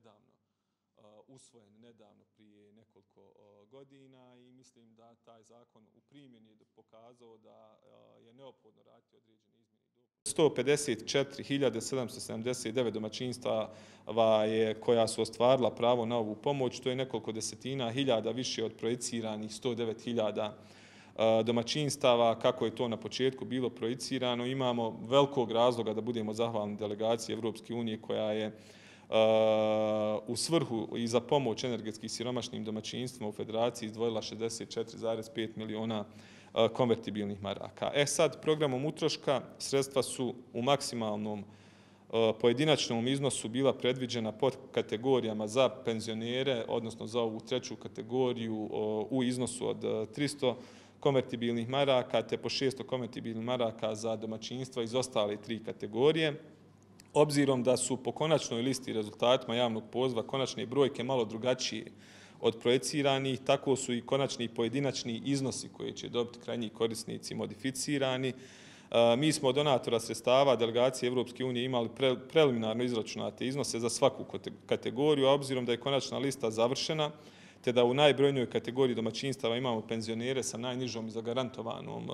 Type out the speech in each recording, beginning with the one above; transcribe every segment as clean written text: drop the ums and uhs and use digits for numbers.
nedavno usvojen nedavno prije nekoliko godina i mislim da taj zakon u primjeni je pokazao da je neophodno raditi određene izmjene i dopune. 154.779 domaćinstava koja su ostvarila pravo na ovu pomoć, to je nekoliko desetina hiljada više od projiciranih 109.000 domaćinstava, kako je to na početku bilo projicirano. Imamo velikog razloga da budemo zahvalni delegaciji Evropske unije koja je u svrhu i za pomoć energetski siromašnim domaćinstvima u Federaciji izdvojila 64,5 miliona konvertibilnih maraka. Sad, programom utroška sredstva su u maksimalnom pojedinačnom iznosu bila predviđena pod kategorijama za penzionere, odnosno za ovu treću kategoriju u iznosu od 300 konvertibilnih maraka, te po 600 konvertibilnih maraka za domaćinstva iz ostale tri kategorije. Obzirom da su po konačnoj listi rezultatima javnog poziva konačne brojke malo drugačije od projiciranih, tako su i konačni pojedinačni iznosi koje će dobiti krajnji korisnici modificirani. Mi smo od donatora sredstava delegacije Evropske unije imali preliminarno izračunate iznose za svaku kategoriju, a obzirom da je konačna lista završena, te da u najbrojnijoj kategoriji domaćinstava imamo penzionere sa najnižom i zagarantovanom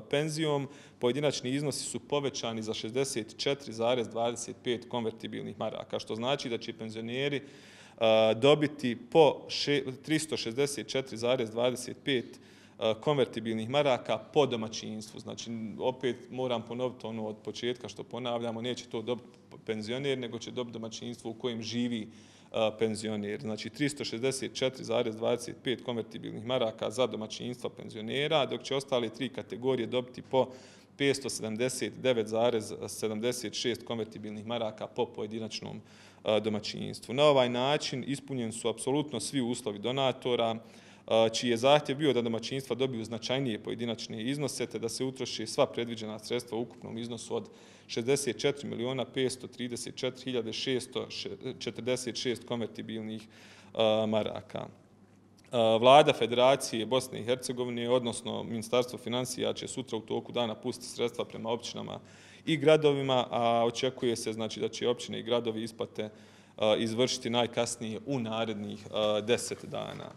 penzijom, pojedinačni iznosi su povećani za 64,25 konvertibilnih maraka, što znači da će penzioneri dobiti po 364,25 konvertibilnih maraka po domaćinstvu. Znači, opet moram ponoviti ono od početka što ponavljamo, neće to dobiti penzioner, nego će dobiti domaćinstvo u kojem živi penzioner. Znači, 364,25 konvertibilnih maraka za domaćinstva penzionera, dok će ostale tri kategorije dobiti po 579,76 konvertibilnih maraka po pojedinačnom domaćinstvu. Na ovaj način ispunjeni su apsolutno svi uslovi donatora, čiji je zahtjev bio da domaćinstva dobiju značajnije pojedinačne iznose, te da se utroši sva predviđena sredstva u ukupnom iznosu od 64.534.646 konvertibilnih maraka. Vlada Federacije Bosne i Hercegovine, odnosno Ministarstvo finansija, će sutra u toku dana pustiti sredstva prema općinama i gradovima, a očekuje se znači, da će općine i gradovi isplate izvršiti najkasnije u narednih 10 dana.